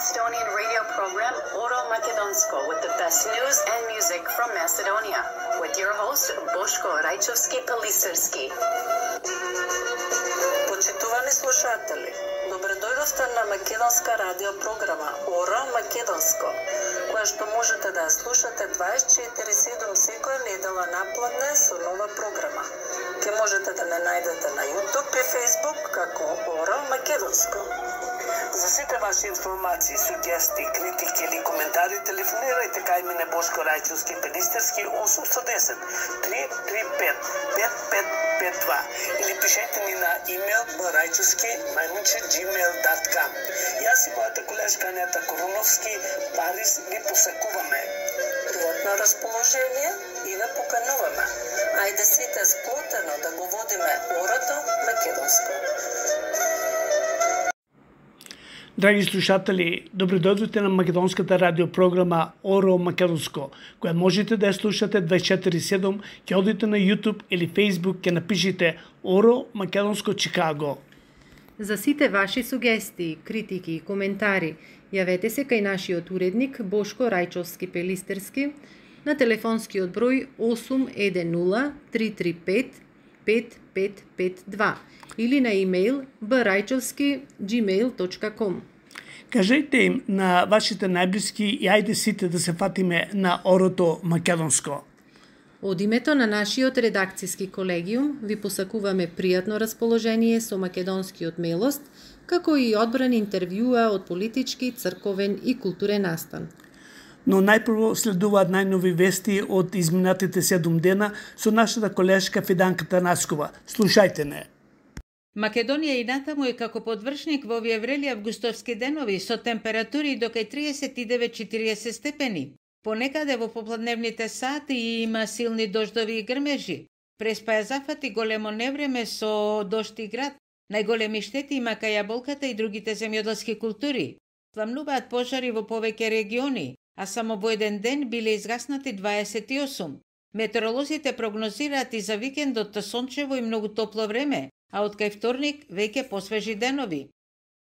Macedonian radio program Oro Makedonsko with the best news and music from Macedonia with your host Boško Rajčovski-Pelisterski. Почитувани слушатели, добредојдовте на македонска радио програма Oro Македонско, која што можете да ја слушате 24/7 секоја недела напладне со нова програма. Ке можете да ме најдете на YouTube и Facebook како Oro Македонско. За сите ваши информации, сугестии, критики или коментари, телефонирајте кај мене Бошко Рајчовски-Пелистерски 810 335 5552 или пишете ни на имейл barajčovski@gmail.com. Јас и мојата колешка Анета Коруновски Парис ви посакуваме. Пријатно расположение и ве покануваме. Ајде сите сплотено да го водиме Орото Македонско. Драги слушатели, добредојдовте на македонската радиопрограма Оро Македонско, која можете да ја слушате 24/7, ќе одите на YouTube или Facebook, ќе напишите Оро Македонско Чикаго. За сите ваши сугестии, критики и коментари, јавете се кај нашиот уредник Бошко Рајчовски-Пелистерски на телефонскиот број 810 335 5552 или на имейл barajčovski@gmail.com. Кажете им на вашите најблиски и ајде сите да се фатиме на Орото Македонско. Од името на нашиот редакцијски колегиум ви посакуваме пријатно расположение со македонскиот милост, како и одбран интервјуа од политички, црковен и културен настан. Но најпрво следуваат најнови вести од изминатите 7 дена со нашата колешка Фиданка Танаскова. Слушајте не. Македонија и натаму е како подвршник во овие врели августовски денови со температури до кај 39-40 степени. Понекаде во попладневните сати има силни дождови и грмежи. Преспа ја зафати големо невреме со дожд и град. Најголеми штети има кај јаболката и другите земјоделски култури. Пламнуваат пожари во повеќе региони, а само во еден ден биле изгаснати 28. Метеоролозите прогнозираат и за викендот сончево и многу топло време, а од кај вторник веќе посвежи денови.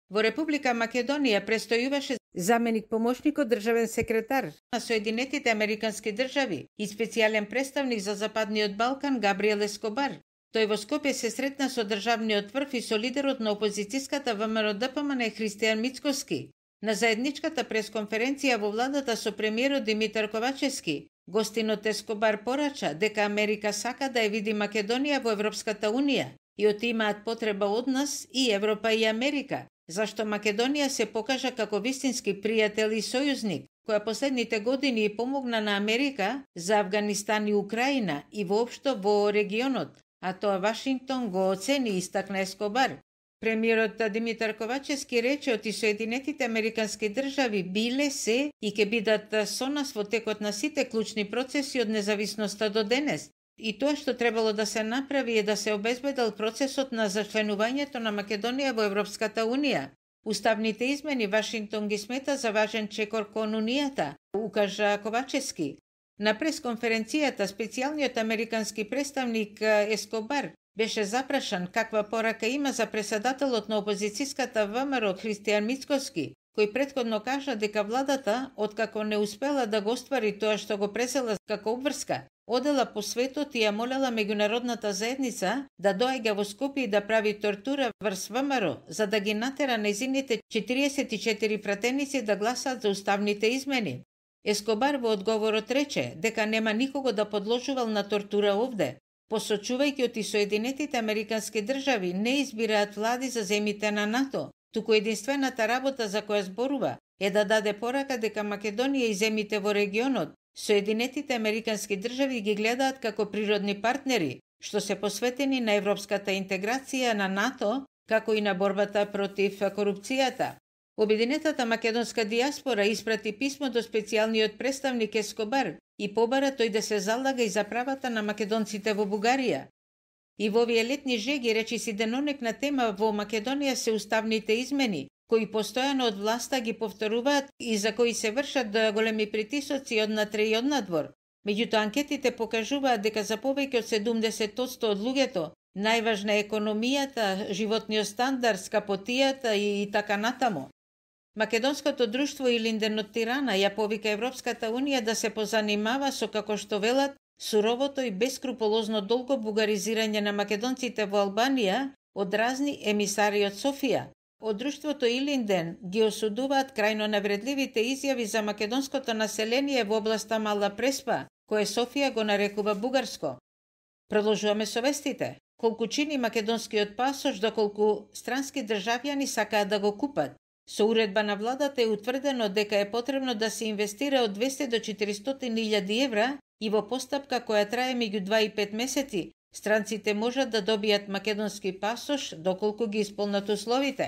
Во Република Македонија престојуваше заменик помошникот државен секретар на Соединетите Американски држави и специјален представник за Западниот Балкан Габриел Ескобар. Тој во Скопје се сретна со државниот врв и со лидерот на опозицијската ВМРО-ДПМН Христијан Мицкоски. На заедничката пресконференција во владата со премиерот Димитар Ковачевски, гостинот Ескобар порача дека Америка сака да ја види Македонија во Европската Унија и оти имаат потреба од нас и Европа и Америка, зашто Македонија се покажа како вистински пријател и сојузник, која последните години помогна на Америка за Авганистан и Украина и воопшто во регионот, а тоа Вашингтон го оцени и истакна Ескобар. Премиерот Димитар Ковачевски рече оти Соединетите Американски држави биле се и ќе бидат со нас во текот на сите клучни процеси од независноста до денес. И тоа што требало да се направи е да се обезбедил процесот на зачленувањето на Македонија во Европската Унија. Уставните измени Вашингтон ги смета за важен чекор кон Унијата, укажа Ковачевски. На пресконференцијата специјалниот американски представник Ескобар беше запрашан каква порака има за преседателот на опозицијската ВМРО Христијан Мицкоски, кој претходно кажа дека владата, откако не успела да го оствари тоа што го презела како обврска, одела по светот и ја молела меѓународната заедница да доаѓа во Скопје и да прави тортура врз ВМРО, за да ги натера нејзините 44 пратеници да гласаат за уставните измени. Ескобар во одговорот рече дека нема никого да подложувал на тортура овде, посочувајќи оти Соединетите Американски држави не избираат влади за земите на НАТО, туку единствената работа за која зборува е да даде порака дека Македонија и земите во регионот Соединетите Американски држави ги гледаат како природни партнери, што се посветени на европската интеграција на НАТО, како и на борбата против корупцијата. Обединетата македонска диаспора испрати писмо до специјалниот представник Ескобар и побара тој да се залага и за правата на македонците во Бугарија. И во овие летни жеги речиси денонек на тема во Македонија се уставните измени, кои постојано од власта ги повторуваат и за кои се вршат големи притисоци однатре и однадвор. Меѓутоа анкетите покажуваат дека за повеќе од 70% од луѓето најважна е економијата, животниот стандард, скапотијата и така натаму. Македонското друштво Илинден од Тирана ја повика Европската Унија да се позанимава со, како што велат, суровото и бескруполозно долго бугаризирање на македонците во Албанија од разни емисари од Софија. Од друштвото Илинден ги осудуваат крајно навредливите изјави за македонското население во областа Мала Преспа, кое Софија го нарекува бугарско. Продолжуваме со вестите. Колку чини македонскиот пасош, доколку странски државјани сакаат да го купат. Со уредба на владата е утврдено дека е потребно да се инвестира од 200 до 400.000 евра и во постапка која трае меѓу 2 и 5 месеци, странците можат да добијат македонски пасош доколку ги исполнат условите.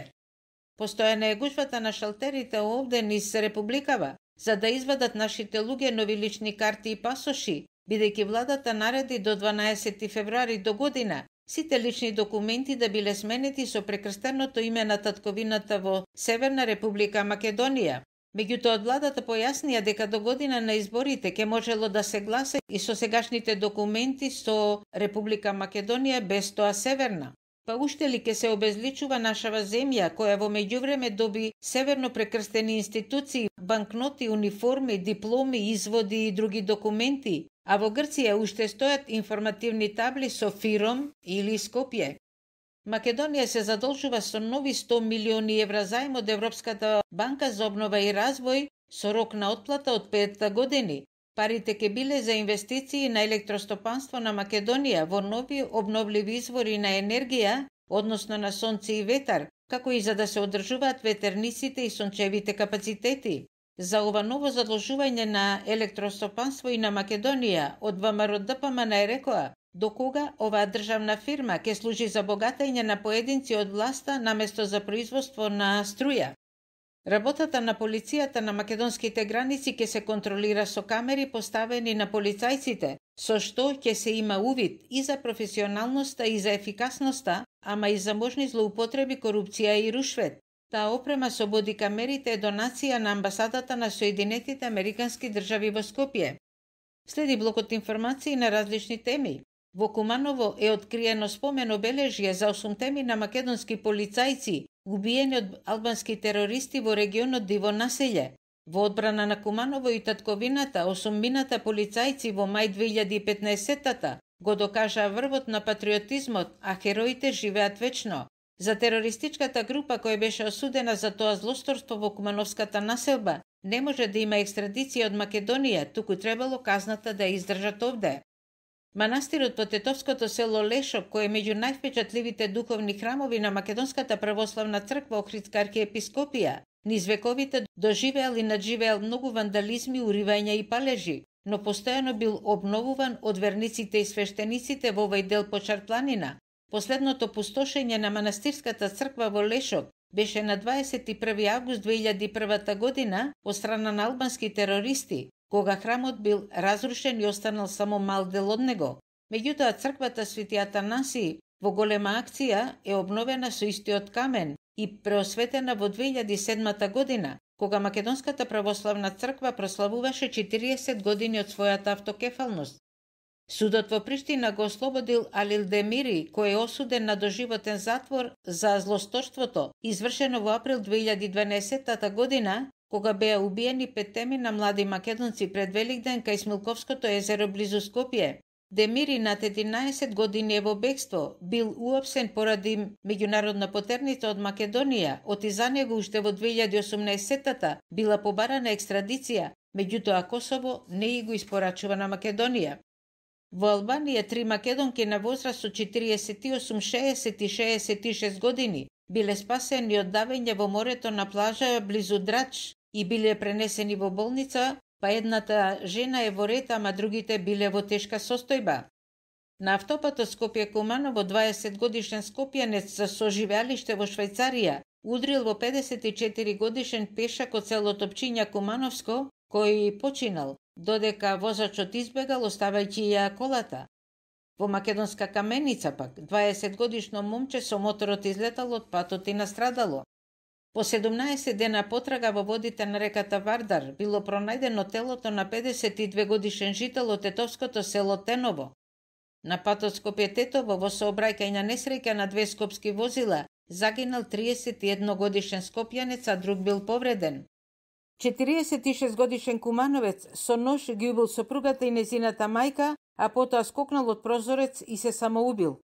Постојана е гужвата на шалтерите овде низ Републикава, за да извадат нашите луѓе нови лични карти и пасоши, бидејќи владата нареди до 12 февруари до година сите лични документи да биле сменети со прекрстеното име на татковината во Северна Република Македонија. Меѓутоа, владата појаснија дека до година на изборите ќе можело да се гласа и со сегашните документи со Република Македонија без тоа Северна. Па уште ли ќе се обезличува нашава земја, која во меѓувреме доби северно прекрстени институции, банкноти, униформи, дипломи, изводи и други документи, а во Грција уште стојат информативни табли со Фиром или Скопје. Македонија се задолжува со нови 100 милиони евра заем од Европската банка за обнова и развој со рок на отплата од 5 години. Парите ќе биле за инвестиции на електростопанство на Македонија во нови обновливи извори на енергија, односно на сонце и ветар, како и за да се одржуваат ветерниците и сончевите капацитети. За ова ново задолжување на електростопанство и на Македонија од ВМРО ДПМН рекоа до кога оваа државна фирма ќе служи за богатење на поединци од власта наместо за производство на струја. Работата на полицијата на македонските граници ќе се контролира со камери поставени на полицајците, со што ќе се има увид и за професионалноста и за ефикасноста, ама и за можни злоупотреби, корупција и рушвет. Таа опрема со бодикамерите е донација на амбасадата на Соединетите Американски држави во Скопје. Следи блокот информации на различни теми. Во Куманово е откриено спомен обележје за 8 на македонски полицајци, убиени од албански терористи во регионот Диво населје. Во одбрана на Куманово и татковината, 8 полицајци во мај 2015-та го докажаа врвот на патриотизмот, а хероите живеат вечно. За терористичката група која беше осудена за тоа злосторство во Кумановската населба, не може да има екстрадиција од Македонија, туку требало казната да ја издржат овде. Манастирот во тетовското село Лешок, кој е меѓу највпечатливите духовни храмови на Македонската православна црква Охридска архиепископија, низ вековите доживеал и надживеал многу вандализми, уривања и палежи, но постојано бил обновуван од верниците и свештениците во овој дел Почар планина. Последното пустошење на манастирската црква во Лешок беше на 21 август 2001 година од страна на албански терористи, кога храмот бил разрушен и останал само мал дел од него. Меѓутоа, црквата Свети Атанаси во голема акција е обновена со истиот камен и преосветена во 2007 година, кога Македонската православна црква прославуваше 40 години од својата автокефалност. Судот во Приштина го ослободил Алил Демири, кој е осуден на доживотен затвор за злосторството, извршено во април 2012 година, кога беа убиени 5 на млади македонци пред Великден кај Смилковското езеро близу Скопје. Демири над 11 години е во бегство, бил уапсен поради меѓународна потерница од Македонија, оти за него уште во 2018-та била побарана екстрадиција, меѓутоа Косово не и го испорачува на Македонија. Во Албанија 3 македонки на возраст од 48, 60 и 66 години биле спасени од давење во морето на плажа близу Драч и биле пренесени во болница, па едната жена е во ред, ама другите биле во тешка состојба. На автопатот Скопје-Куманово 20 годишен скопјанец за соживеалиште во Швајцарија удрил во 54 годишен пешак од селото Пчиња Кумановско, кој починал, додека возачот избегал оставајќи ја колата. Во македонска Каменица пак 20 годишно момче со моторот излетало од патот и настрадало. По 17 дена потрага во водите на реката Вардар било пронајдено телото на 52 годишен жител од тетовското село Теново. На патот Скопје-Тетово во сообраќајна несреќа на 2 скопски возила загинал 31 годишен скопјанец, а друг бил повреден. 46 годишен кумановец со нож ги убил сопругата и незината мајка, а потоа скокнал од прозорец и се самоубил.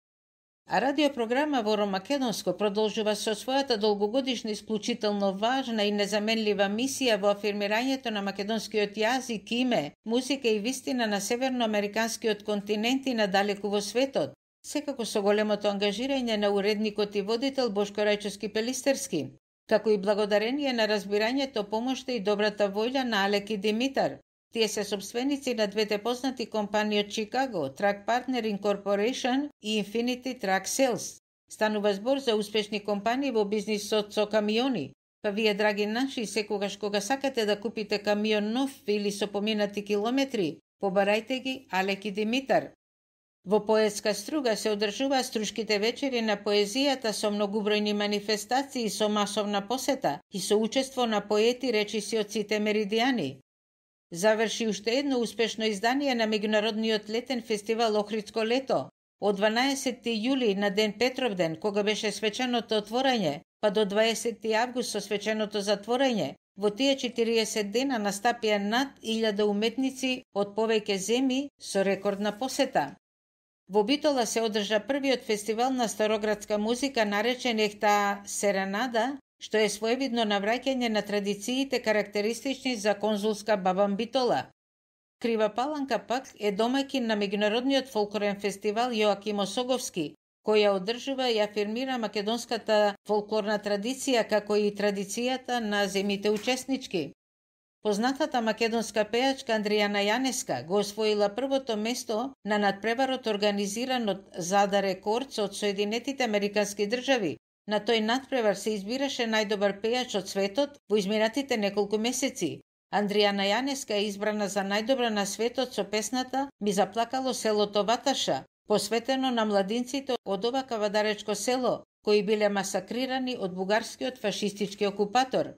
А радиопрограма во Македонско продолжува со својата долгогодишна исклучително важна и незаменлива мисија во афирмирањето на македонскиот јазик, име, музика и вистина на северноамериканскиот континент и надалеку во светот, секако со големото ангажирање на уредникот и водител Бошко Рајчовски Пелистерски, како и благодарение на разбирањето, помошта и добрата воља на Алек и Димитар. Тие се собственици на двете познати компании од Чикаго, Track Partner Incorporation и Infinity Track Sales. Станува збор за успешни компании во бизнисот со камиони. Па вие, драги наши, секогаш кога сакате да купите камион нов или со поминати километри, побарајте ги Алек и Димитар. Во поетска струга се одржуваа струшките вечери на поезијата со многубројни манифестации, со масовна посета и со учество на поети, речиси од сите меридијани. Заврши уште едно успешно издание на меѓународниот летен фестивал Охридско лето. Од 12 јули на ден Петровден, кога беше свеченото отворање, па до 20 август со свеченото затворање, во тие 40 дена настапија над 1000 уметници од повеќе земји со рекордна посета. Во Битола се одржа првиот фестивал на староградска музика наречен Ехта Серенада, што е своевидно навраќање на традициите карактеристични за конзулска Бабан Битола. Крива Паланка пак е домаќин на меѓународниот фолклорен фестивал Јоаким Осоговски, која одржува и афирмира македонската фолклорна традиција, како и традицијата на земите учеснички. Познатата македонска пејачка Андријана Јанеска го освоила првото место на надпреварот организиран од Зада Рекордс од Соединетите Американски држави. На тој надпревар се избираше најдобар пејач од светот во изминатите неколку месеци. Андријана Јанеска е избрана за најдобра на светот со песната "Ми заплакало селото Ваташа", посветено на младинците од ова кавадаречко село, кои биле масакрирани од бугарскиот фашистички окупатор.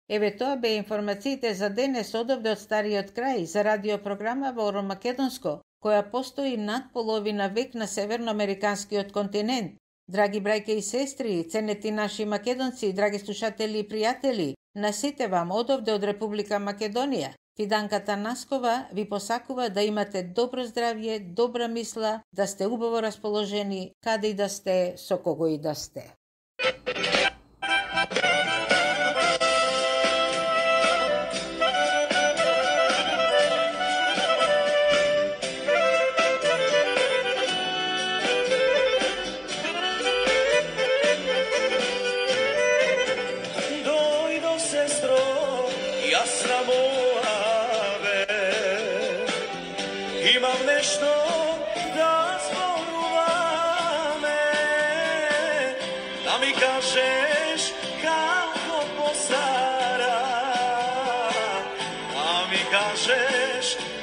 Еве тоа бе информациите за денес одовде од стариот крај за радиопрограма во Оро Македонско, која постои над половина век на северноамериканскиот континент. Драги брајке и сестри, ценети наши македонци, драги слушатели и пријатели, на сите вам одовде од Република Македонија, Фиданката Наскова ви посакува да имате добро здравје, добра мисла, да сте убаво расположени, каде и да сте, со кого и да сте.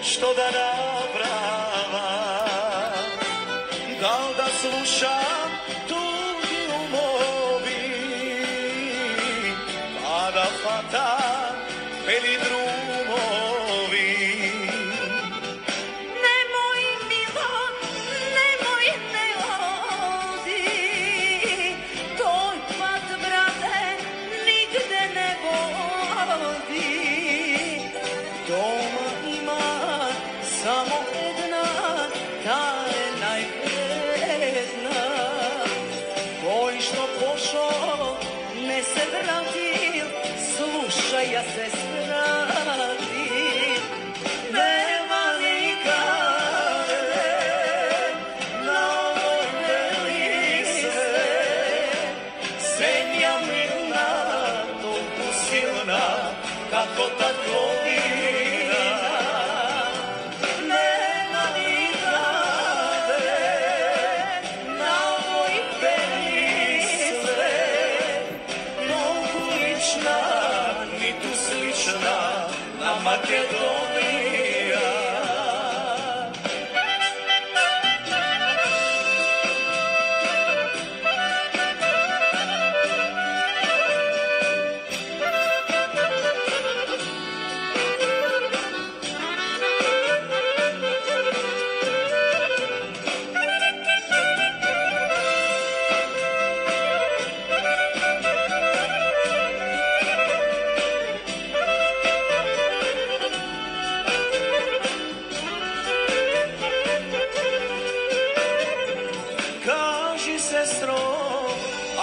Што да направа, дал да слушам туги умови, па да фатам бели друмови. Немој, мило, немој, не оди, тој пат, брате, нигде не води. Дома има само една, таа е највредна. Кој што пошол, не се вратил, слушај, ја се стратил. Нема никаде на овој бели свет, земја мирна, толку силна, како та година. Нема никаде на овој бели свет, толку лична, ниту слична на Македонија.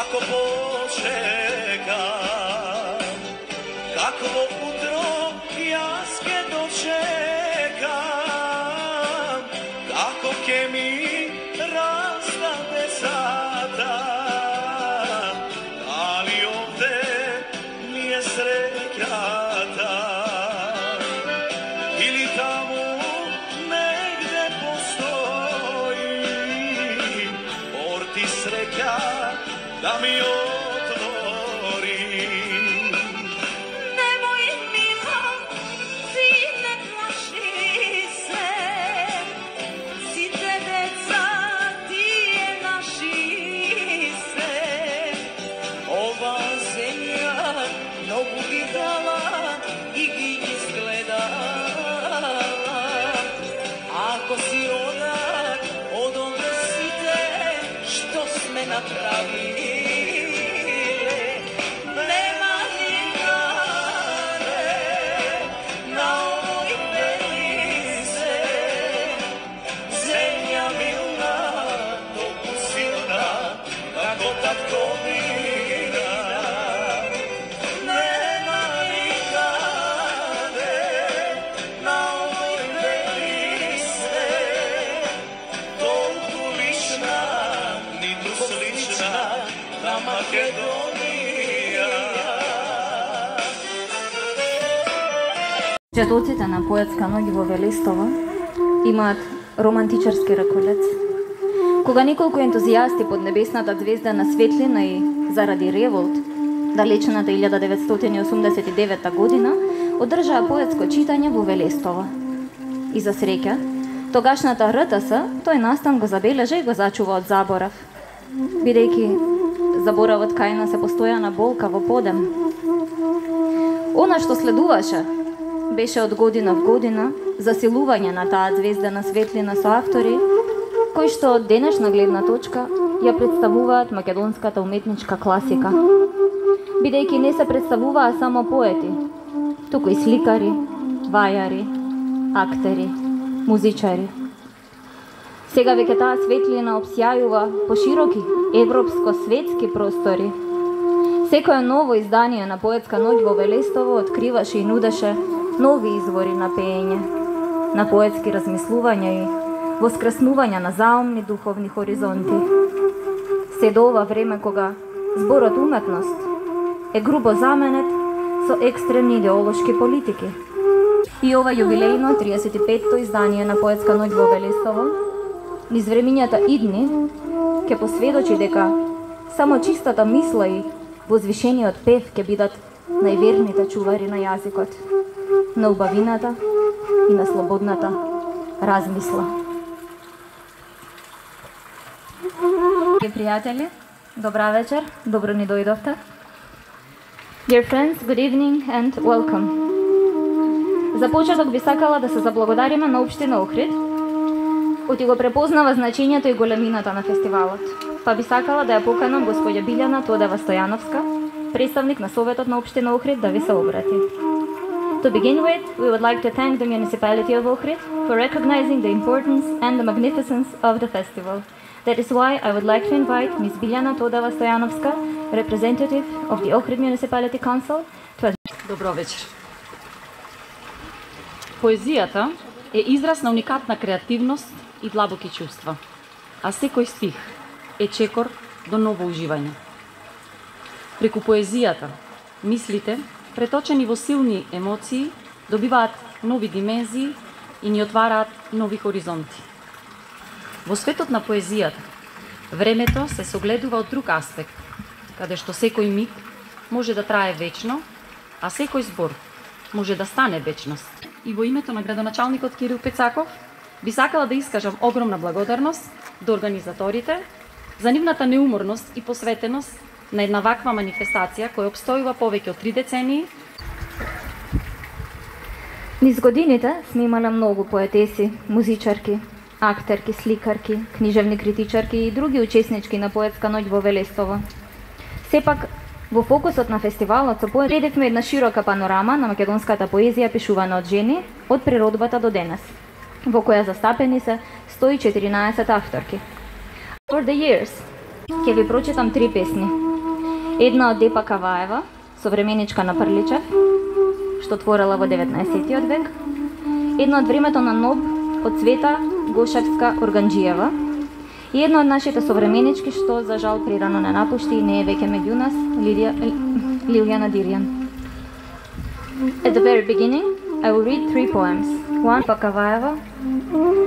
Како почекам, какво утро јас ке дочекам, како ке ми раздade сата, дали овде ми е среќата, или таму негде постои порти среќа да ми отвори. Немој мила, сине плаши се, сите деца тие наши се. Ова земја многу ги дала и ги изгледала. Ако си одат од онде сите што сме направиле, нема никаде на овој бели свет земја милна, толку силна, како татковина. Нема никаде на овој бели свет толку лична, ниту слична на Македонија. Четоците на поетска ноќ во Велестово имаат романтичарски раколец. Кога неколку ентузијасти под небесната звезда на светлина и заради револт, далечната 1989 година, одржаа поетско читање во Велестово. И за среќа, тогашната РТС тој настан го забележа и го зачува од заборав, бидејќи заборавот кај нас е постојана болка во подем. Она што следуваше беше од година в година засилување на таа звездена светлина со автори кои што од денешна гледна точка ја представуваат македонската уметничка класика, бидејќи не се представуваа само поети, туку и сликари, вајари, актери, музичари. Сега веќе таа светлина обсјајува по широки европско-светски простори. Секое ново издание на поетска ноќ во Велестово откриваше и нудеше нови извори на пеење, на поетски размислувања и воскреснувања на заумни духовни хоризонти. Се до ова време кога зборот уметност е грубо заменет со екстремни идеолошки политики. И ова јубилејно 35-то издание на поетска ноќ во Велестово низ времињата идни ќе посведочи дека само чистата мисла и возвишениот пев ќе бидат најверните чувари на јазикот, на убавината и на слободната размисла. Пријатели, добра вечер, добро ни дојдовте. Dear friends, good evening and welcome. За почеток би сакала да се заблагодариме на Општина Охрид, кој го препознава значењето и големината на фестивалот. Па би сакала да ја поканам господја Билјана Тодева Стојановска, представник на Советот на Општина Охрид, да ви се обрати. To begin with, we would like to thank the municipality of Ohrid for recognizing the importance and the magnificence of the festival. That is why I would like to invite Ms. Biljana Todeva Stojanovska, representative of the Ohrid Municipality Council, to address. Добро вечер. Поезијата е израз на уникатна креативност и длабоки чувства, а секој стих е чекор до ново уживање. Преку поезијата, мислите, преточени во силни емоции, добиваат нови димензии и ни отвараат нови хоризонти. Во светот на поезијата, времето се согледува од друг аспект, каде што секој миг може да трае вечно, а секој збор може да стане вечност. И во името на градоначалникот Кирил Пецаков, би сакала да искажам огромна благодарност до организаторите за нивната неуморност и посветеност на една ваква манифестација која обстојува повеќе од 3 децении. Низ годините сме имале многу поетеси, музичарки, актерки, сликарки, книжевни критичарки и други учеснички на поетска ноќ во Велестово. Сепак, во фокусот на фестивалот со поет предевме една широка панорама на македонската поезија пишувана од жени од природбата до денес, во која застапени се 114 авторки. For the years, ќе ви прочитам 3 песни. Една од Депа Каваева, современичка на Прличев, што творела во 19 век. Една од времето на Ноб од Цвета Гошевска Органџиева. И една од нашите современички што за жал прирано не напушти и не е веќе меѓу нас, Лилјана Дирјан. At the very beginning, I will read 3 poems. One, Пакаваева,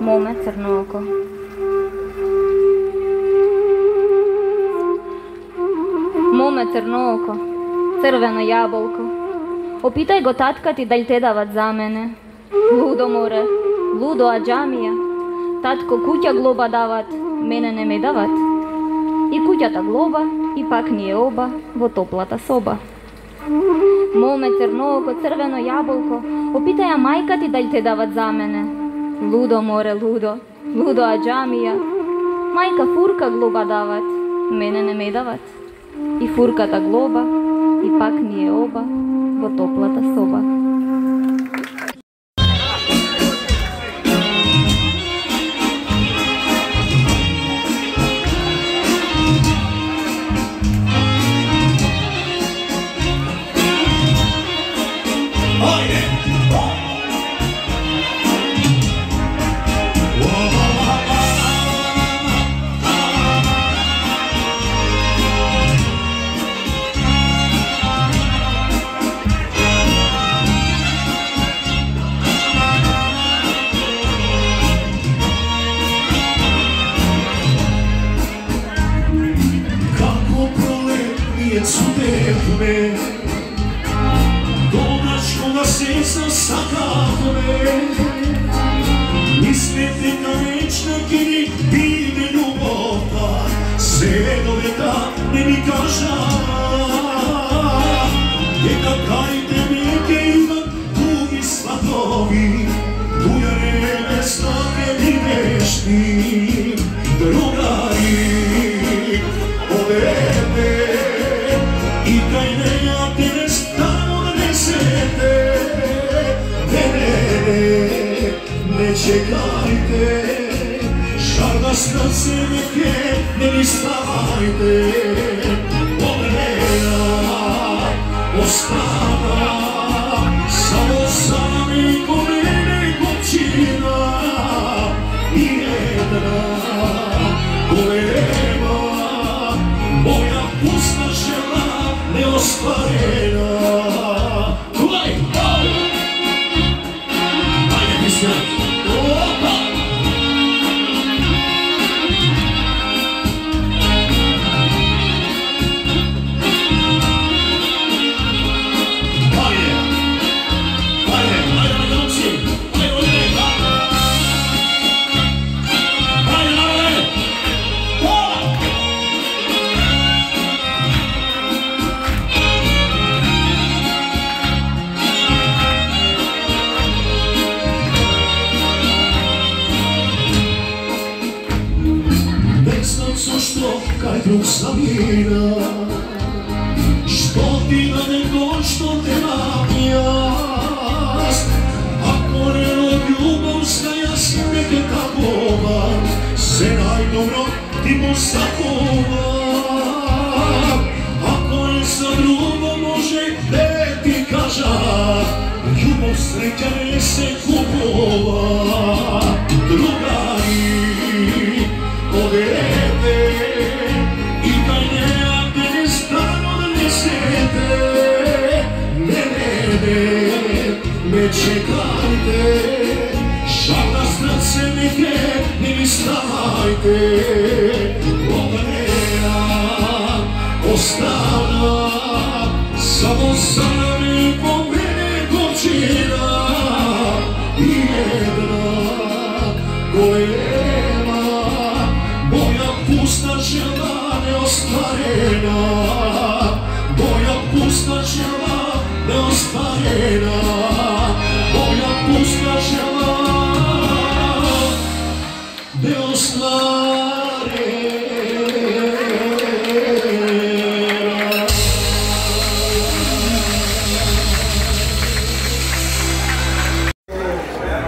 Моме Црно око. Моме Црно око, црвено јаболко, опитај го татка ти дали те дават за мене. Лудо море, лудо аџамија, татко куќа глоба дават, мене не ме дават. И куќата глоба, и пак ние оба во топлата соба. Моме црно око, црвено јаболко, опитаја мајка ти дали те дават за мене. Лудо море, лудо, лудо аџамија, мајка фурка глоба дават, мене не ме дават. И фурката глоба, и пак ние оба во топлата соба.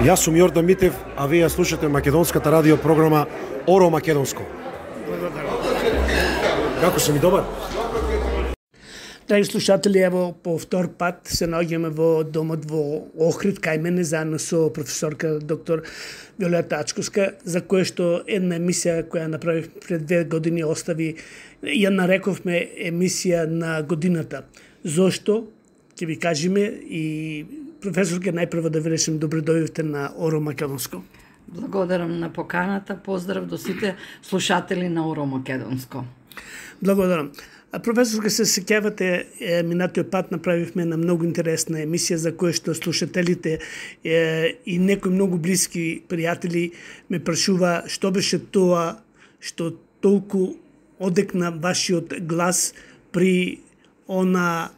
Јас сум Јордан Митев, а вие слушате македонската радио програма Оро Македонско. Како си ми добар? Драги слушатели, ево по втор пат се наоѓаме во домот во Охрид, кај мене, заедно со професорка доктор Виолета Ачковска, за кое што една емисија која направив пред 2 години остави, ја нарековме емисија на годината. Зошто? Ќе ви кажеме и професорка, најпрво да ви речем добро дојдовте на Оро Македонско. Благодарам на поканата, поздрав до сите слушатели на Оро Македонско. Благодарам. А професорка, се сеќавате, минатиот пат направивме една многу интересна емисија за која што слушателите и некои многу блиски пријатели ме прашува што беше тоа што толку одекна вашиот глас при она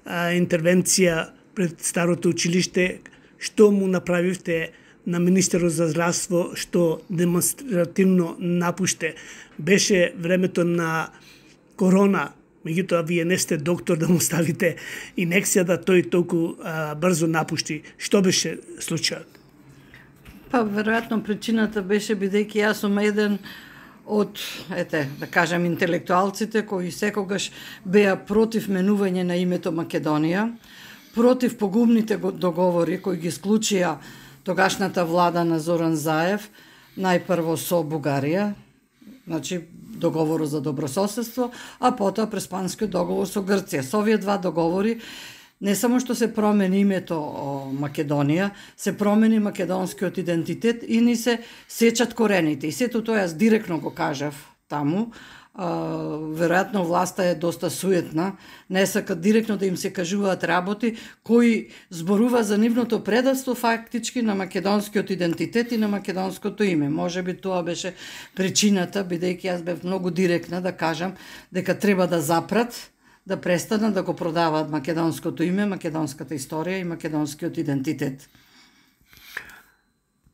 интервенција пред старото училиште, што му направивте на министерот за здравство, што демонстративно напуште. Беше времето на корона, меѓутоа вие не сте доктор да му ставите инекција да тој толку брзо напушти. Што беше случајот? Па, веројатно причината беше бидејќи јас сум еден од, да кажем, интелектуалците кои секогаш беа против менување на името Македонија, против погубните договори кои ги склучија тогашната влада на Зоран Заев, најпрво со Бугарија, значи договорот за добрососедство, а потоа Преспанскиот договор со Грција. Со овие два договори не само што се промени името Македонија, се промени македонскиот идентитет и ни се сечат корените. И сето тоа јас директно го кажав таму. Веројатно власта е доста суетна, не сакат директно да им се кажуваат работи кои зборува за нивното предавство фактички на македонскиот идентитет и на македонското име. Може би тоа беше причината, бидејќи јас бев многу директна да кажам дека треба да запрат, да престанат да го продаваат македонското име, македонската историја и македонскиот идентитет.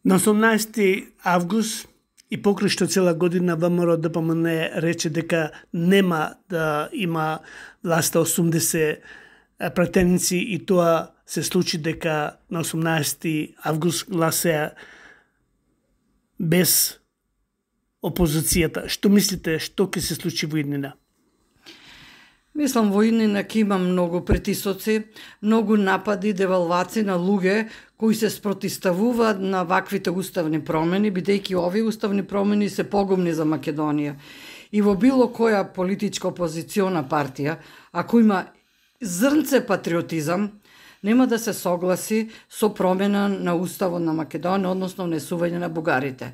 На 18 август и покрај што цела година ВМРО ДПМН рече дека нема да има власта 80 пратеници и тоа се случи дека на 18 август гласеа без опозицијата. Што мислите, што ќе се случи во иднина? Мислам, во иднина ќе има многу притисоци, многу напади, девалвации на луѓе кои се спротиставуваат на ваквите уставни промени, бидејќи овие уставни промени се погубни за Македонија. И во било која политичка опозициона партија, ако има зрнце патриотизам, нема да се согласи со промена на уставот на Македонија, односно внесување на бугарите.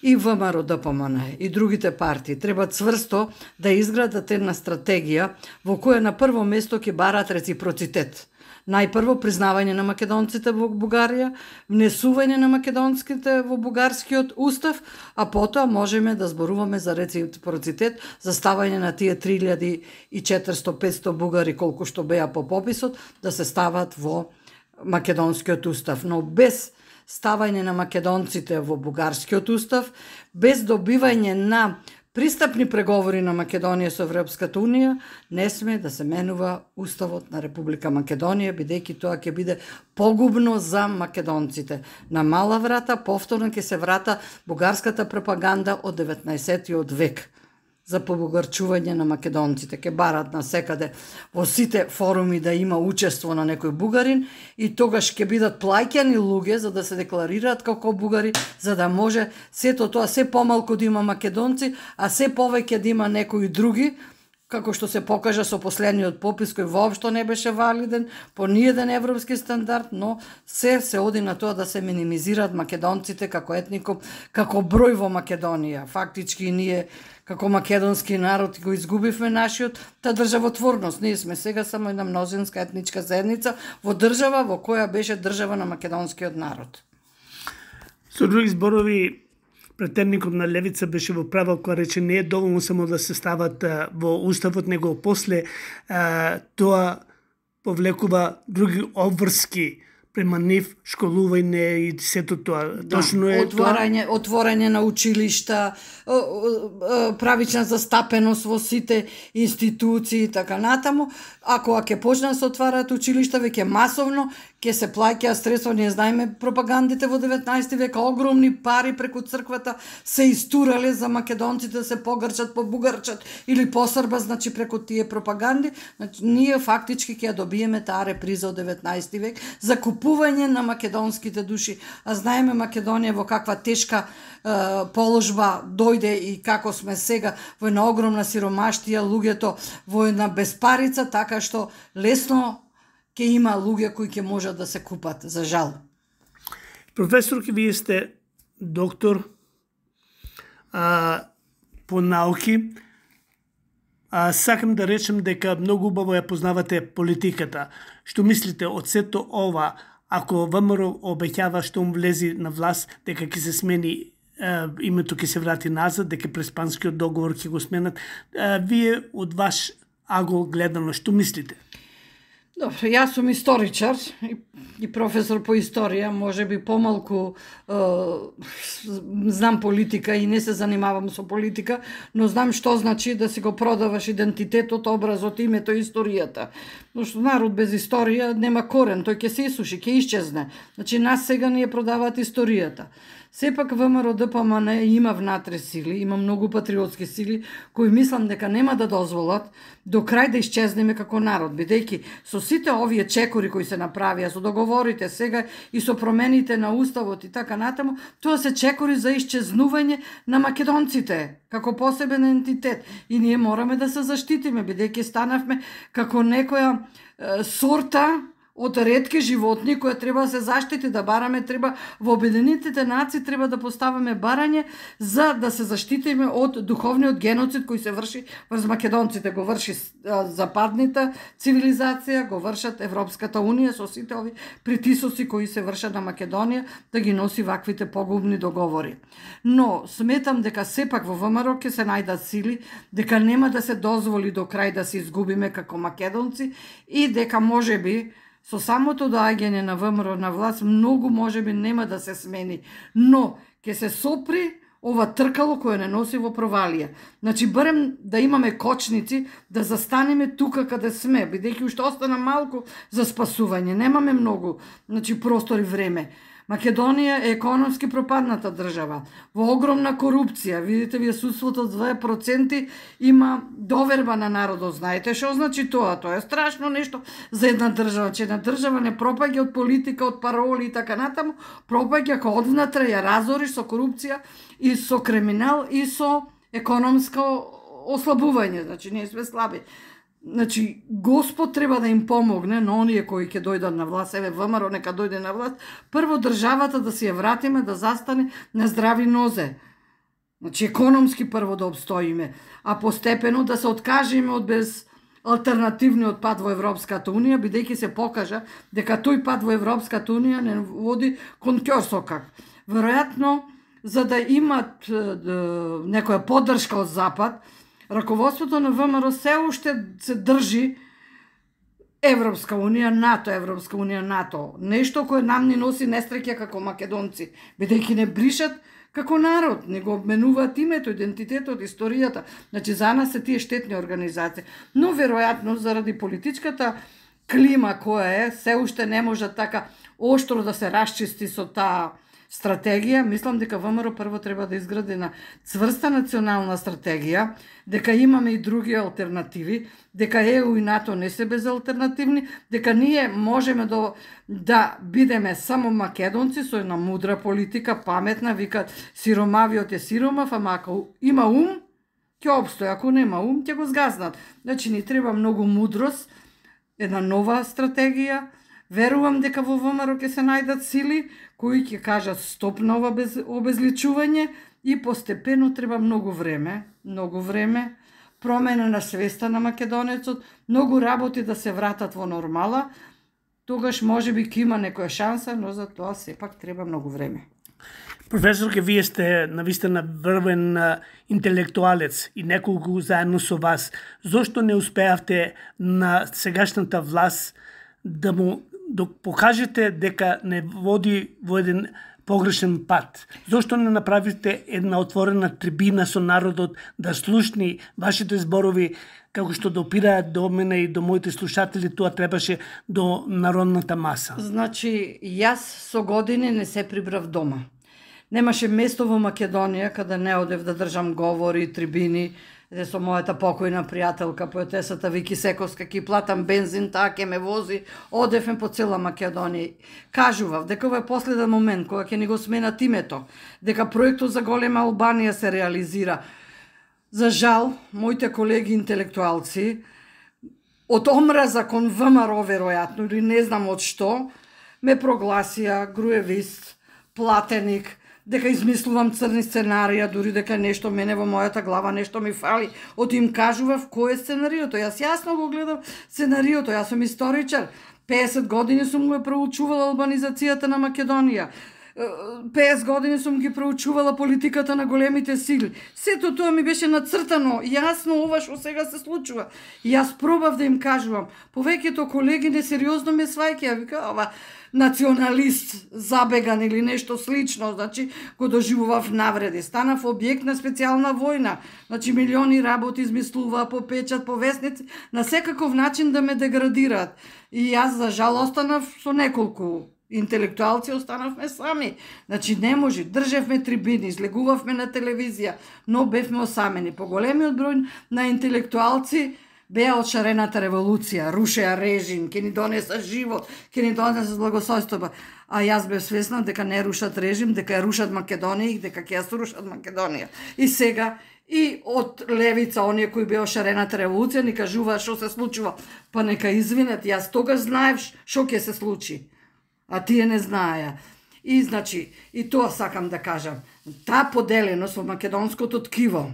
И ВМРО ДПМН и другите партии треба цврсто да изградат една стратегија во која на прво место ќе барат реципроцитет. Најпрво признавање на македонците во Бугарија, внесување на македонските во бугарскиот устав, а потоа можеме да зборуваме за реципроцитет, за ставање на тие 3400-500 бугари колку што беа по пописот, да се стават во македонскиот устав. Но без ставање на македонците во бугарскиот устав, без добивање на пристапни преговори на Македонија со Европската Унија, не сме да се менува уставот на Република Македонија, бидејќи тоа ќе биде погубно за македонците. На мала врата повторно ќе се врата бугарската пропаганда од 19. век за побугарчување на македонците. Ке барат на секаде во сите форуми да има учество на некој бугарин и тогаш ќе бидат плаќани луѓе за да се декларираат како бугари, за да може сето тоа се помалку да има македонци, а се повеќе да има некои други, како што се покажа со последниот попис кој воопшто не беше валиден по ниеден европски стандард, но се оди на тоа да се минимизираат македонците како етникум, како број во Македонија. Фактички ние како македонски народ го изгубивме нашиот та државотворност. Ние сме сега само една мнозинска етничка заедница во држава во која беше држава на македонскиот народ. Со други зборови, претендникот на левица беше во право кога рече не е доволно само да се стават во уставот, него после тоа повлекува други обврски према нив школување и сето тоа. Точно е отворање на училишта, правична застапеност во сите институции и така натаму. Ако ќе почнат се отвараат училишта веќе масовно, ќе се плаќаат средства, ние знаеме пропагандите во 19 век, огромни пари преку црквата се истурале за македонците да се погрчат, побугарчат или посрба, значи преку тие пропаганди. Значи, ние фактички ќе добиеме таа реприза од 19 век за купување на македонските души. А знаеме Македонија во каква тешка положба дојде и како сме сега во една огромна сиромаштија, луѓето во една безпарица, така што лесно ќе има луѓе кои ќе можат да се купат, за жал. Професор, вие сте доктор по науки. Сакам да речем дека многу убаво ја познавате политиката. Што мислите од сето ова, ако ВМРО обеќава што влези на власт, дека ќе се смени името, ќе се врати назад, дека преспанскиот договор ќе го сменат, вие од ваш агол гледано, што мислите? Добро, јас сум историчар и професор по историја, може би помалку знам политика и не се занимавам со политика, но знам што значи да си го продаваш идентитетот, образот, името и историјата. Но што народ без историја нема корен, тој ќе се исуши, ќе исчезне. Значи нас сега ни ја продаваат историјата. Сепак ВМРО ДПМН има внатре сили, има многу патриотски сили кои мислам дека нема да дозволат до крај да исчезнеме како народ, бидејќи со сите овие чекори кои се направија, со договорите сега и со промените на уставот и така натаму, тоа се чекори за исчезнување на македонците како посебен ентитет и ние мораме да се заштитиме, бидејќи станавме како некоја сорта од ретки животни која треба да се заштити, да бараме, треба во Обединетите нации треба да поставаме барање за да се заштитиме од духовниот геноцид кој се врши врз македонците, го врши западната цивилизација, го вршат Европската унија со сите ови притисоци кои се вршат на Македонија да ги носи ваквите погубни договори. Но сметам дека сепак во ВМРО ќе се најдат сили, дека нема да се дозволи до крај да се изгубиме како македонци и дека можеби со самото доаѓање на ВМРО на власт многу можеби нема да се смени, но ќе се сопри ова тркало кое не носи во провалија. Значи барем да имаме кочници да застанеме тука каде сме, бидејќи уште остана малку за спасување, немаме многу, значи простор и време. Македонија е економски пропадната држава, во огромна корупција, видите вие судството од 2% има доверба на народот, знаете што значи тоа? Тоа е страшно нешто за една држава, че една држава не пропаѓа од политика, од пароли и така натаму, пропаѓа кога однатре ја разориш со корупција и со криминал и со економско ослабување, значи ние сме слаби. Значи, Господ треба да им помогне на оние кои ќе дојдат на власт, еве ВМРО нека дојде на власт, прво државата да си ја вратиме, да застане на здрави нозе. Значи, економски прво да обстоиме, а постепено да се откажеме од без алтернативниот пат во Европската унија, бидејќи се покажа дека тој пат во Европската унија не води кон ќорсокак. Веројатно, за да имат некоја поддршка од Запад, раководството на ВМРО се уште се држи Европска унија, НАТО. Нешто кое нам ни носи несреќа како македонци, бидејќи не бришат како народ, не го обменуваат името, идентитетот, историјата. Значи, за нас се тие штетни организации. Но, веројатно, заради политичката клима која е, се уште не може така оштро да се расчисти со таа стратегија, мислам дека ВМРО прво треба да изгради на цврста национална стратегија, дека имаме и други алтернативи, дека ЕУ и НАТО не се безалтернативни, дека ние можеме да бидеме само македонци со една мудра политика, паметна, викат сиромавиот е сиромав, ама ако има ум, ќе обстои, ако нема ум, ќе го згазнат. Значи, ни треба многу мудрост, една нова стратегија. Верувам дека во ВМРО ќе се најдат сили кои ќе кажат стоп на ова обезличување и постепено треба многу време, промена на свеста на македонецот, многу работи да се вратат во нормала, тогаш можеби ќе има некоја шанса, но за тоа сепак треба многу време. Професорке, вие сте навистина врвен интелектуалец и неколку заедно со вас. Зошто не успеавте на сегашната власт да му покажете дека не води во еден погрешен пат. Зошто не направите една отворена трибина со народот да слушни вашите зборови, како што допираат до мене и до моите слушатели, тоа требаше до народната маса. Значи, јас со години не се прибрав дома. Немаше место во Македонија каде не одев да држам говори, трибини, де со мојата покојна пријателка, поетесата Вики Сековска, ки платам бензин, таа ке ме вози, одевме по цела Македонија. Кажував дека ова е последен момент кога ќе ни го сменат името, дека проектот за голема Албанија се реализира. За жал, моите колеги интелектуалци, од омраза кон ВМРО веројатно, или не знам од што, ме прогласија груевист, платеник, дека измислувам црни сценарија, дури дека нешто мене во мојата глава нешто ми фали. Од им кажував кој е сценариото. Јас јасно го гледав сценариото, јас сум историчар. 50 години сум го проучувала албанизацијата на Македонија. 50 години сум ги проучувала политиката на големите сили. Сето тоа ми беше нацртано, јасно ова што сега се случува. И јас пробав да им кажувам. Повеќето колеги несериозно ме сваќаја, вика ова националист забеган или нешто слично, значи го доживував навреди. Станав објект на специјална војна, значи милиони работи измислуваа по печат, по весници, на секаков начин да ме деградираат. И јас за жал останав со неколку интелектуалци, останавме сами. Значи не може, држевме трибини, излегувавме на телевизија, но бевме осамени. Поголемиот број на интелектуалци беа од шарената револуција, рушеа режим, ќе ни донеса живот, ќе ни донеса благосојстоба. А јас бев свесна дека не рушат режим, дека ја рушат Македонија и дека ќе ја срушат Македонија. И сега и од левица, оние кои беа шарената револуција, ни кажуваа што се случува. Па нека извинат, јас тогаш знаев што ќе се случи, а тие не знаеа. И значи, и тоа сакам да кажам, таа поделеност во македонското ткиво,